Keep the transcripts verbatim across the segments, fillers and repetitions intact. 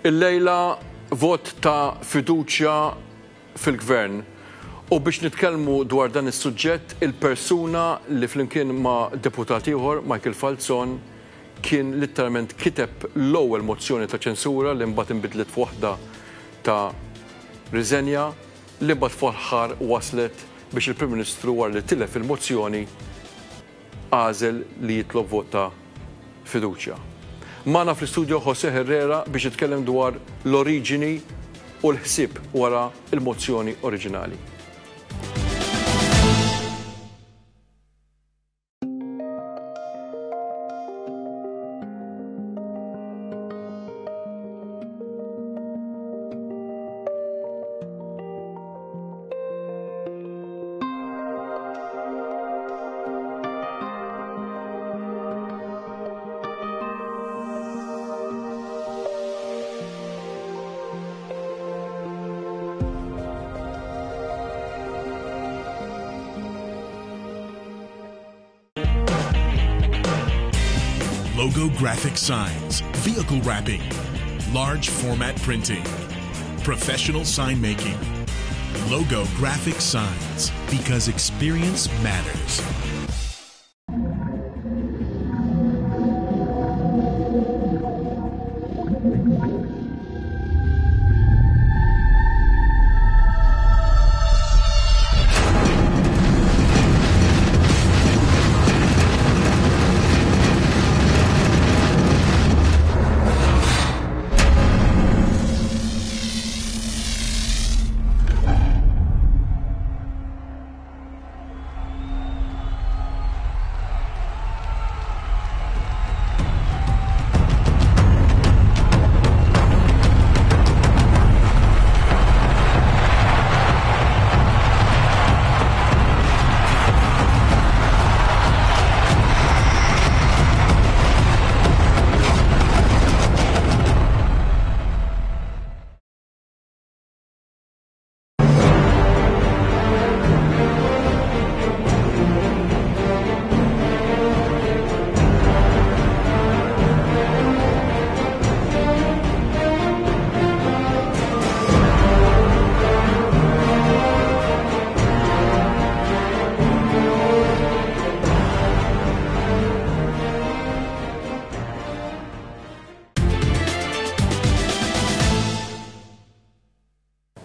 Illejla vot ta' fiduċja fil-gvern. U biex nitkellmu dwar dan is-suġġett, il-persuna li flimkien ma' deputat ieħor, Michael Falzon, kien literalment kiteb l-ewwel mozzjoni ta' ċensura li mbagħad inbidlet f'waħda ta' riżenja li mbagħad fl-aħħar waslet biex il-Prim Ministru, wara li tilef il-mozzjoni, għażel li jitlob vot ta' fiduċja. Magħna fl-istudio Jose Herrera biex jitkellem dwar l-oriġini u l-ħsieb wara il-mozzjoni oriġinali. Logo graphic signs, vehicle wrapping, large format printing, professional sign making. Logo graphic signs, because experience matters.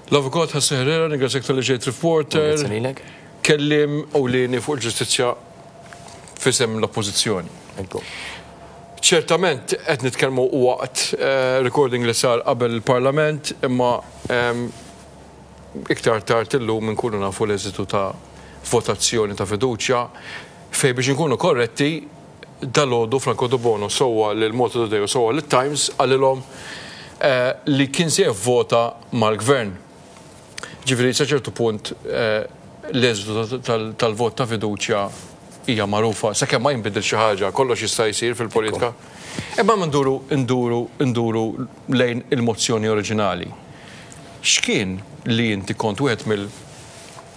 L-Avukat Jose Herrera, ningrazzjak talli ġejt reporter. Kellim ewlieni fuq il-ġustizzja f'isem l-oppożizzjoni. Ċertament qed nitkellmu waqt recording li sar qabel il-Parlament, imma iktar tard illum inkunu nafu l-eżitu ta' votazzjoni ta' fiduċja fej biex inkunu korretti dalgħodu Franco Debono sewwa lil Malta Today u sewwa lit-Times qalilhom li kien se jivvota mal-gvern. Ġifieri sa ċertu punt l-eżitu tal-vot ta' fiduċja hija magħrufa, sakemm ma jinbidel xi ħaġa, kollox jista' jsir fil-politika. Imma nduru nduru nduru lejn il-mozzjoni oriġinali. X'kien li inti kont wieħed mill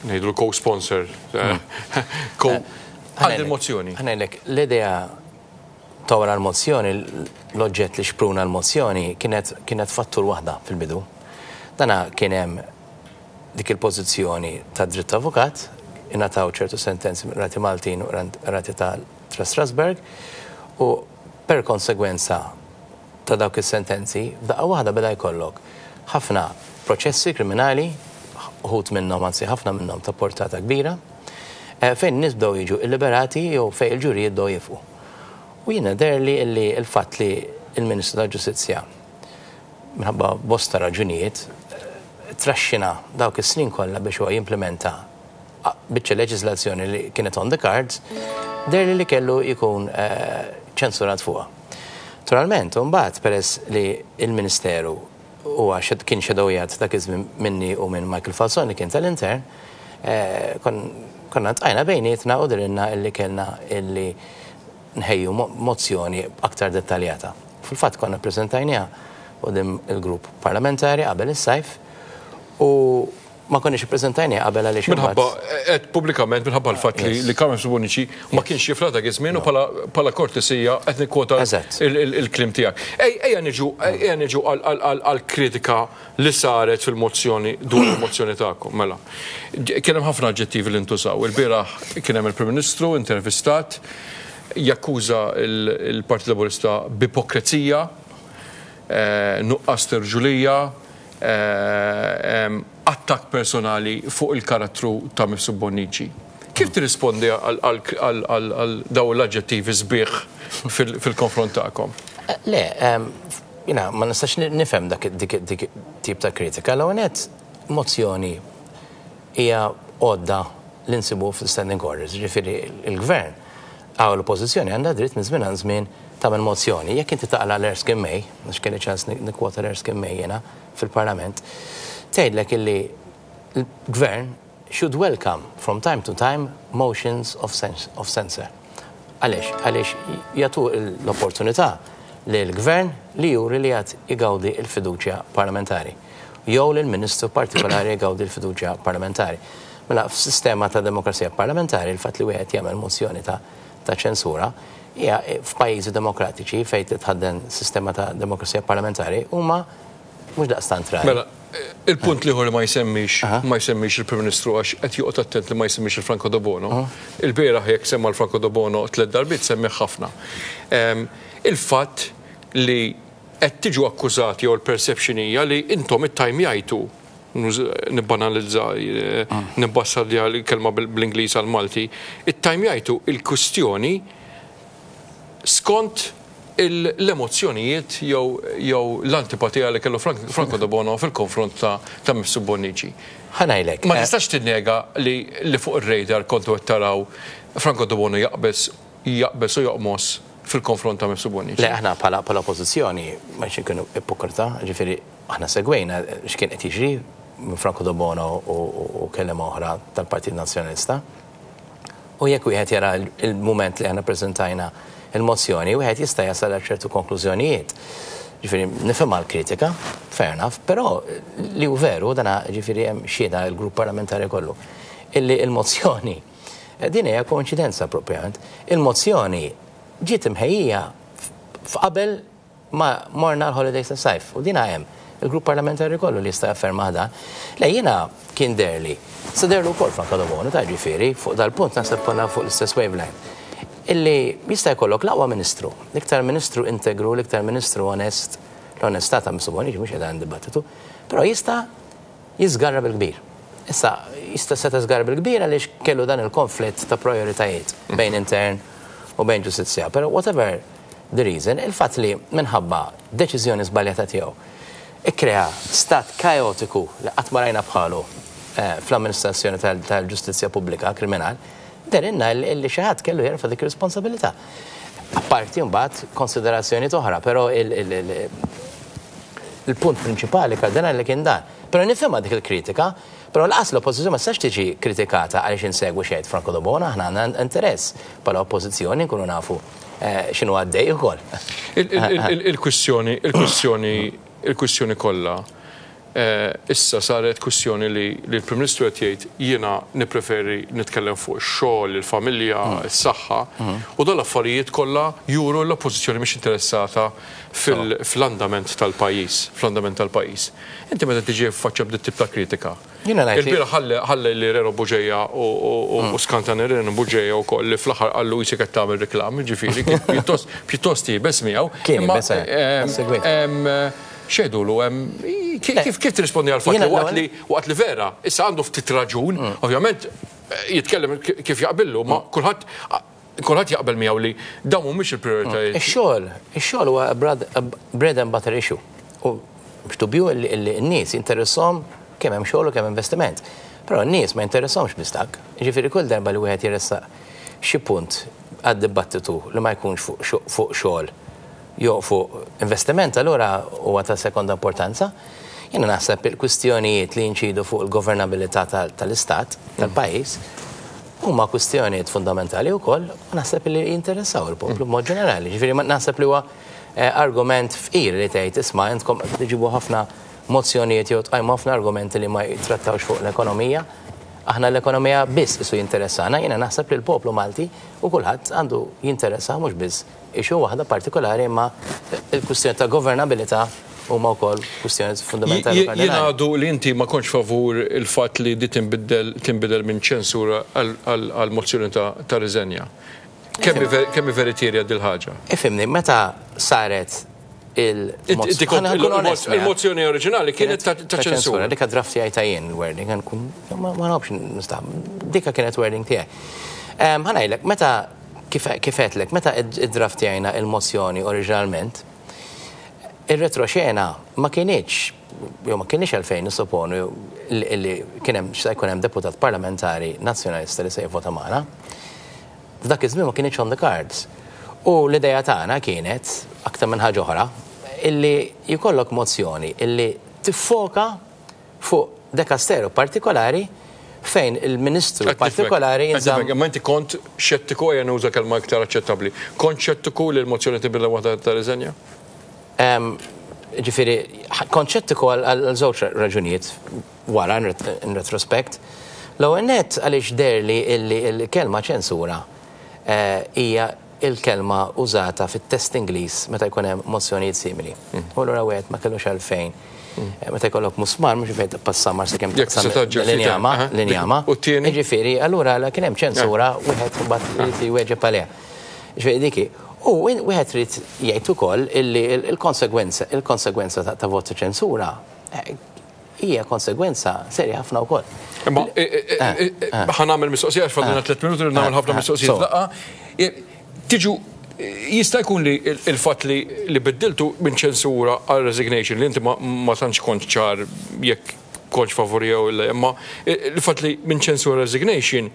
ngħidu co-sponsor għal il-mozzjoni? Ħa ngħidlek, l-idea ta' wara l-mozzjoni, l-oġġett li xpruna l-mozzjoni kienet kienet fattur waħda fil-bidu. Dana kien hemm dik il-pożizzjoni ta' dritt avukat, ingħataw ċertu sentenzi mill qrati Maltin u qrati ta' Strasburg, u per konsegwenza ta' dawk is-sentenzi, f'daqqa waħda beda jkollok ħafna proċessi kriminali, uħud minnhom, anzi ħafna minnhom ta' portata kbira, fejn nies bdew jiġu illiberati jew fejn il-ġurijiet bdew jifqu. U jiena deherli li l-fatt li l-Ministru tal-Ġustizzja minħabba bosta raġunijiet traxxina dawk is-snin kollha biex huwa jimplementa biċċa leġiżlazzjoni li kienet on the cards, deherli li kellu jkun ċensurat fuqha. Naturalment, imbagħad peress li l-Ministeru huwa kien xedowjat dak iż-żmien minni u minn Michael Falzon li kien tal-intern, konna tqajna bejnietna u dirilna illi kellna illi nħejju mozzjoni aktar dettaljata. Fil-fatt konna ppreżentajniha quddiem il-grupp parlamentari qabel is-sajf u Ma konniex ippreżentajni qabel għaliex Minħabba, qed pubblikament minħabba l-fatt li li Carmen Bonnici ma kienx jifla dak iż-żmien u bħala kortesija qed nikkwota il-kliem tiegħek. Ejja niġu ejja niġu għall-kritika li saret fil-mozzjoni dwar il-mozzjoni tagħkom. Mela. Kien hemm ħafna aġġettivi li ntużaw. Il-bieraħ kien hemm il-Prim Ministru intervistat jakkuża il-Partit Laburista b'ipokrezija, nuqqas t'irġulija, attak personali fuq il-karattru ta' Mifsud Bonnici. Kif tirrispondi għal daw l-aġġettivi sbieħ fil-konfront tagħkom? Le, jiena ma nistax nifhem dak dik tip ta' kritika. L-ewwel mozzjoni hija għodda li nsibu fil-standing orders, ġifieri il-gvern għaw l-oppożizzjoni għandha dritt minn żmien għal żmien tagħmel mozzjoni. Jekk inti taqla l-Erskine May, għax kelli ċans nikkwota l-Erskine May jiena fil-Parlament, tgħidlek illi l-gvern should welcome from time to time motions of, of censure. Għaliex? Għaliex jagħtu l-opportunità li l-gvern li juri li għad igawdi il-fiduċja parlamentari. Jew li l-ministru partikolari jgawdi il-fiduċja parlamentari. Mela, f'sistema ta' demokrazija parlamentari, il-fatt li wieħed jagħmel mozzjoni ta' ta' ċensura, hija f'pajjiżi demokratiċi fejn titħadden sistema ta' demokrazija parlamentari huma mhux daqstant rari. Mela, il-punt l-ieħor li ma jsemmix ma jsemmix il-Prim Ministru għax qed joqgħod attent li ma jsemmix il-Franco Debono. Il-bieraħ jekk semma l-Franco Debono tliet darbiet semmih ħafna. Il-fatt li qed tiġu akkużati jew l-perception hija li intom ittajmjajtu, nibbanalizza, nibbassarja l-kelma bl-Ingliż għal-Malti, ittajmjajtu il-kustjoni skont l-emozzjonijiet jew l-antipatija li kellu Franco Debono fil-konfront ta' Mifsud Bonnici. Ħa ngħidlek. Ma tistax tinnega li fuq ir-radar kontu qed taraw Franco Debono jaqbeż jaqbeż u joqmos fil-konfront ta' Mifsud Bonnici. Le, aħna bħala oppożizzjoni ma nkunu ipokrita, ġifieri aħna segwejna x'kien qed jiġri minn Franco Debono u kellima oħra tal-Partit Nazzjonalista. U jekk wieħed jara il-mument li aħna preżentajna il-mozzjoni, wieħed jista' jasal għal ċertu konklużjonijiet. Ġifieri nifhem l-kritika, fair enough, però li hu veru dana ġifieri hemm xhieda l-grupp parlamentari kollu. Illi il-mozzjoni, din hija koinċidenza propjament, il-mozzjoni ġiet imħejjija f'qabel ma morna l-holidays tas-sajf u dina hemm il-grupp parlamentari kollu li jista' jafferma dan. Le, jiena kien deherli, sa deherlu wkoll Franco Debono ta' ġifieri fuq dal-punt naħseb konna fuq l-istess wavelength. Illi jista' jkollok l-aqwa ministru, l-iktar ministru integru, l-iktar ministru onest, l-onestà ta' Mifsud Bonnici mhux qiegħda dibattitu, però jista' jiżgarra bil-kbir. Issa, jista' seta' żgarra bil-kbir għaliex kellu dan il-konflitt ta' prioritajiet bejn intern u bejn ġustizzja. Però whatever the reason, il-fatt li minħabba deċiżjoni żbaljata tiegħu ikkrea stat kaotiku li qatt ma rajna bħalu fl-amministrazzjoni tal-ġustizzja pubblika kriminal, dehrilna li xi ħadd kellu jerfa' dik ir-responsabilità. Apparti mbagħad konsiderazzjoni oħra, però il-punt prinċipali kardinali li kien dan. Però nifhimha dik il-kritika, però lanqas l-oppożizzjoni ma tistax tiġi kritikata għaliex insegwu xejn Franco Debono, aħna għandna interess bħala oppożizzjoni nkunu nafu x'inhu għaddej ukoll. Il-kwistjoni, il-kwistjoni, il-kwistjoni kollha issa saret kwistjoni li l-Prim Ministru qed jgħid jiena nippreferi nitkellem fuq ix-xogħol, il-familja, is-saħħa, u dan l-affarijiet kollha juru l-oppożizzjoni mhix interessata fl-andament tal-pajjiż, fl-andament tal-pajjiż. Inti meta tiġi ffaċċja b'dit tip ta' kritika. Il-bieraħ ħalli li Reno Bugeja u skanta Reno Bugeja wkoll li fl-aħħar qallu qisek qed tagħmel reklam, ġifieri pjuttost iebes miegħu. Kien iebes, Xedulu, kif kif tirrispondi għal fatt li waqt li waqt li vera, issa għandu ftit raġun, ovvjament jitkellem kif jaqbillu, ma kulħadd kulħadd jaqbel miegħu li dawn mhumiex il-prijoritajiet. Ix-xogħol, ix-xogħol huwa bread and butter issue. U biex dubju li n-nies jinteressahom kemm hemm xogħol u kemm investiment. Però n-nies ma jinteressahomx biss dak. Ġifieri kull darba li wieħed jressaq xi punt għad-dibattitu li ma jkunx fuq xogħol jew fuq investiment, allura huwa ta' sekonda importanza. Jiena naħseb il-kwistjonijiet li jinċidu fuq il-governabilità tal-istat, tal-pajjiż, huma kwistjonijiet fundamentali wkoll u naħseb li jinteressaw il-poplu b'mod ġenerali. Ġifieri naħseb li huwa argument fqir li tgħid isma' intkom tiġibu ħafna mozzjonijiet jew tqajmu ħafna argumenti li ma jitrattawx fuq l-ekonomija. Aħna l-ekonomija biss isu jinteressana, jiena naħseb li l-poplu Malti u kulħadd għandu jinteressa mhux biss issue waħda partikolari, imma il-kwistjoni ta' governabilità huma wkoll kwistjoni fundamentali. Jien għadu li inti ma kontx favur il-fatt li di tinbidel tinbidel minn ċensura għal mozzjoni ta' riżenja. Kemm veritiera dil-ħaġa? Ifhimni, meta saret il-mozzjoni. Il-mozzjoni oriġinali kienet ta' ċensura. Dika draft tiegħi jien il-wording, ma nafx nista'. Dika kienet wording tiegħi. Ħa ngħidlek, meta kif għedtlek, meta id-draft jajna il-mozzjoni oriġinalment, il-retroxena ma kienx, jew ma kienx għalfejn nissoponu li kien hemm se jkun hemm deputat parlamentari nazzjonalista li se jivvota magħna. F'dak iż-żmien ma kienx on the cards. U l-idea tagħna kienet, aktar minn ħaġa oħra, illi jkollok mozzjoni illi tiffoka fuq dekasteru partikolari fejn il-ministru partikolari jinżamm. Ma inti kont xettiku, ejja nuża kelma iktar aċċettabbli. Kont xettiku li l-mozzjoni tibdel waħda ta' riżenja? Ġifieri, kont xettiku għal żewġ raġunijiet wara in retrospect. L-ewwel nett għaliex deherli illi l-kelma ċensura hija il-kelma użata fit-test Ingliż meta jkun hemm mozzjonijiet simili. U allura wieħed ma kellux għalfejn. Meta jkollok musmar mhux fejn tpassamar sakemm taqsam l-injama, l-injama. Jiġifieri, allura kien hemm ċensura wieħed imbagħad irid jweġeb għaliha. Ġifieri diki. U wieħed irid jgħid ukoll illi il-konsegwenza il-konsegwenza ta' vot ċensura hija konsegwenza serja ħafna wkoll. Imma ħa nagħmel mistoqsija għax fadlina tliet minuti li nagħmel ħafna mistoqsijiet laqgħa. Tiġu jista' jkun li il-fatt li biddiltu minn ċensura għal resignation li inti ma tantx kont ċar jekk kontx favori jew le, imma il-fatt li minn ċensura resignation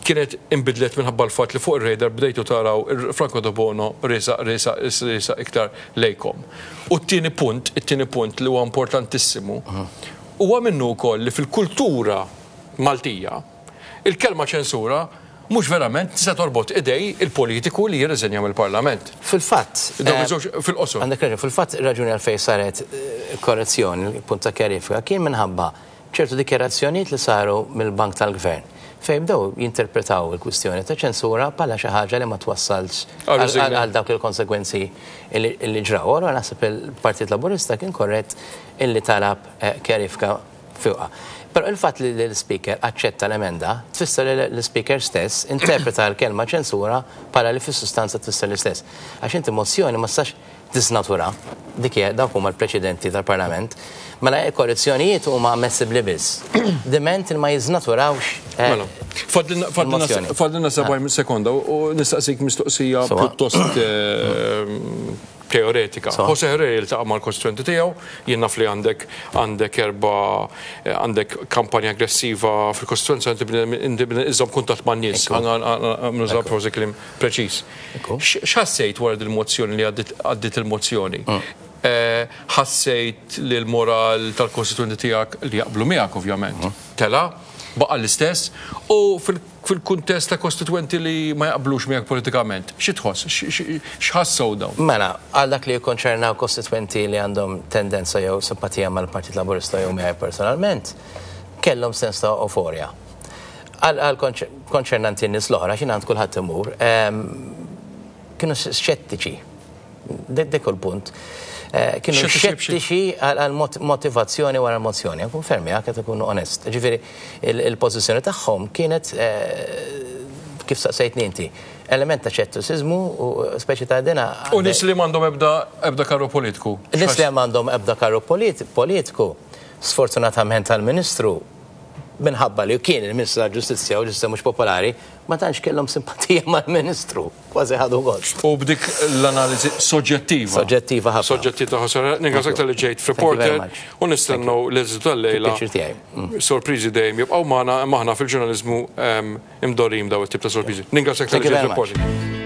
kienet inbidlet minħabba l-fatt li fuq ir-radar bdejtu taraw Franco Debono riesaq riesaq riesaq iktar lejkom. U t-tieni punt, it-tieni punt li huwa importantissimu, huwa minnu wkoll li fil-kultura Maltija il-kelma ċensura mhux verament tista' torbot idej il-politiku li jirriżenja mill-Parlament. Fil-fatt, fil-qosor. Għandek raġun, fil-fatt raġuni għalfejn saret korrezzjoni, punt ta' kjarifika, kien minħabba ċertu dikjarazzjonijiet li saru mill-Bank tal-Gvern fejn bdew jinterpretaw il-kwistjoni ta' ċensura bħala xi ħaġa li ma twassalx għal dawk il-konsegwenzi li ġraw. Allura naħseb il-Partit Laburista kien korrett illi talab kjarifika fuqha. Però il-fatt li l-Speaker aċċetta l-emenda tfisser li l-Speaker stess interpreta l-kelma ċensura bħala li fis-sustanza tfisser l-istess. Għax inti mozzjoni ma tistax tisnatura, dik hija dawk huma l-preċedenti tal-Parlament, mela korrezzjonijiet huma ammissibbli biss. Diment li ma jiżnaturawx. Mela, fadlilna sebgħin sekonda u nistaqsik mistoqsija pjuttost teoretika. Jose Herrera jiltaqa' mal-kostituenti tiegħu, jien naf li għandek għandek erba' għandek kampanja aggressiva fil-kostituenza, inti iżżomm kuntatt man-nies, nuża forsi kliem preċiż. X'ħassejt wara il-mozzjoni li għaddiet il-mozzjoni? Ħassejt li l-moral tal-kostituenti tiegħek li jaqblu miegħek ovvjament tela, baqa' l-istess, u fil-kuntest ta' kostituenti li ma jaqblux miegħek politikament, xi tħoss, x'ħassew dawn? Mela, għal dak li jikkonċernaw kostituenti li għandhom tendenza jew simpatija mal-Partit Laburista jew miegħi personalment, kellhom sens ta' euforja. Għal konċernanti n-nies l-oħra, x'in għand kulħadd imur, kienu xettiċi. Dik il-punt. Kienu xettiċi għal motivazzjoni wara l-mozzjoni. Nkun fermi, għak ikunu onest. Ġifieri, il-pożizzjoni tagħhom kienet, kif saqsejtni inti, element ta' xettiċiżmu u speċi ta' dina. U nies li m'għandhom ebda karru politiku? Nies li m'għandhom ebda karru politiku, sfortunatament tal-Ministru, minħabba li kien il-Ministru tal-Ġustizzja u ġustizzja mhux popolari, ma tantx kellhom simpatija mal-Ministru, kważi ħadu gost. U b'dik l-analiżi soġġettiva. Soġġettiva ħafna. Soġġettiva ħafna. Ningrazzjak talli ġejt f'Reporter u nistennew l-eżitu tal-lejla. Sorpriżi dejjem jibqgħu magħna, imma aħna fil-ġurnaliżmu imdorrijin daw it-tip ta' sorpriżi. Ningrazzjak talli ġejt f'Reporter.